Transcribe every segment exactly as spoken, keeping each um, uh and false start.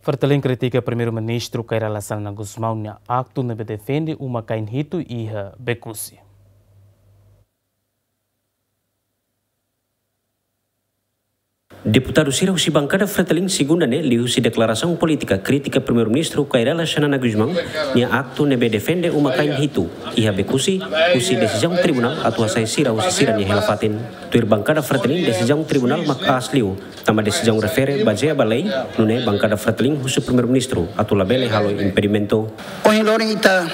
Fretilin kritika Primeiru-Ministru Kay Rala Xanana Gusmão nia aktu ne'ebé defende uma-kain hitu iha Becusse. Deputadu sira husi bankada Fretilin segunda ne'e liuhusi deklarasaun polítika kritika Primeiru-Ministru Kay Rala Xanana Gusmão nia aktu ne'ebé defende uma-kain hitu iha Becusse, husi desizaun tribunál atu hasai sira husi sira-nia hela-fatin. Tuir bankada Fretilin, desizaun tribunál mak aas liu, tanba desizaun refere bazeia ba lei, nune'e bankada Fretilin husu Primeiru-Ministru atu labele halo impedimentu. Ohin loron ita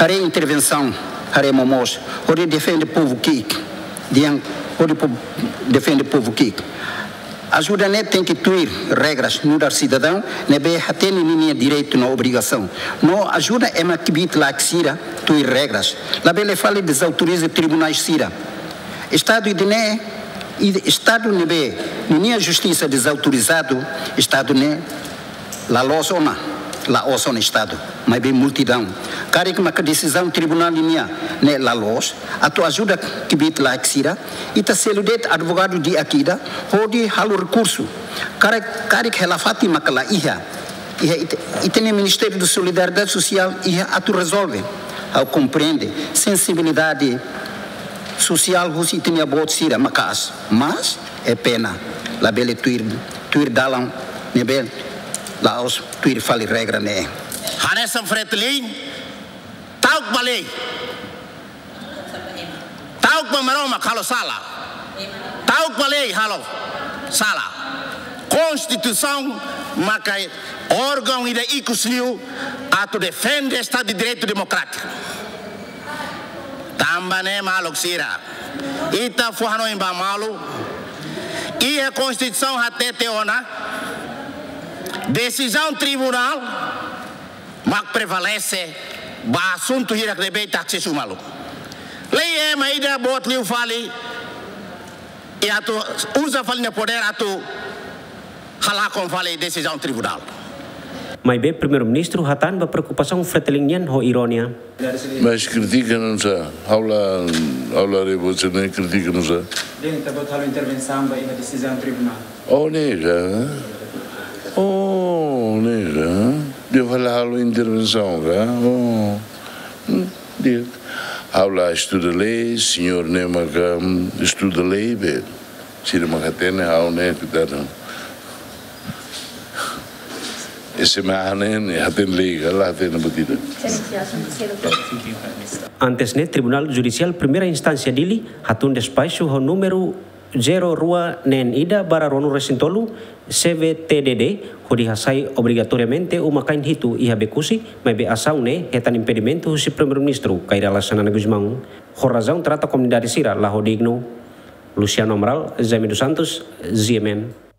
haree intervensaun, haree momoos, hodi defende povu ki'ik, dehan hodi po-, defende povu ki'ik. Ajuda ne'e tenke tuir regras, nu'udar sidadaun ne'ebé hatene ninia direitu no obrigasaun. No ajuda ema kbiit-laek sira tuir regras. Labele fali dezautoriza tribunais sira. Estadu ida-ne'e, i-, Estadu ne'ebé ninia justisa dezautorizadu, Estadu ne'e la loos ona, la'ós ona Estadu, maibé multidaun. Karik maka desizaun tribunál nian ne'e la loos, atu ajuda kbiit-laek sira, ita selu de'it advogadu di'ak ida, hodi halo rekursu. Karik, karik hela-fatin maka la iha, iha ita, ita-nia Ministériu Solidariedade Sosiál iha atu rezolve. Ha'u komprende sensibilidade sosiál husi ita-nia boot sira maka'as, mas é pena, labele tuir, tuir dalan ne'ebé la'ós tuir fali regra ne'e. Hanesan Fretilin, ta'uk ba lei. Ta'uk ba Maromak halo sala. Ta'uk ba lei halo sala. Konstituisaun maka órgaun ida ikus liu atu defende Estadu de Direitu Demokrátiku. Tanba ne'e maluk sira, ita fó hanoin ba malu, iha Konstituisaun hatete ona, desizaun tribunál mak prevalese ba asuntu hirak ne'ebé ita asesu malu. Lei ema ida boot liu fali, i atu uza fali nia podér atu halakon fali desizaun tribunál. Maibé Primeiru-Ministru hatán ba preokupasaun Fretilin nian ho irónia. Mas kritika nusá, ha'u la, ha'u la haree buat sira-ne'e kritika nusá. Dehan ita-boot halo intervensaun ba iha desizaun tribunál. Oh, ne'e ka? Oh, ne'e ka? Dehan fali halo intervensaun ka? Oh. Hmm, di'ak. Ha'u la estuda lei, señór ne'e maka, hmm, estuda lei, be. Sira maka hatene, ha'u ne'e, kuidadu. Ese me hane, ne'e hatene lei ka, la hatene buat ida. Antes ne'e, Tribunál Judisiál Primeira Instánsia Dili hatún despaxu ho númeru zero rua neen ida barra ruanulu resin tolu, C V T D D, hodi hasai obrigatoriamente uma-kain hitu iha Becusse, maibé asaun ne'e hetan impedimentu husi Primeiru-Ministru Kay Rala Xanana Gusmão. Ho razaun trata komunidade sira la ho dignu. Luciano Amaral, Jaime dos Santos, G M N.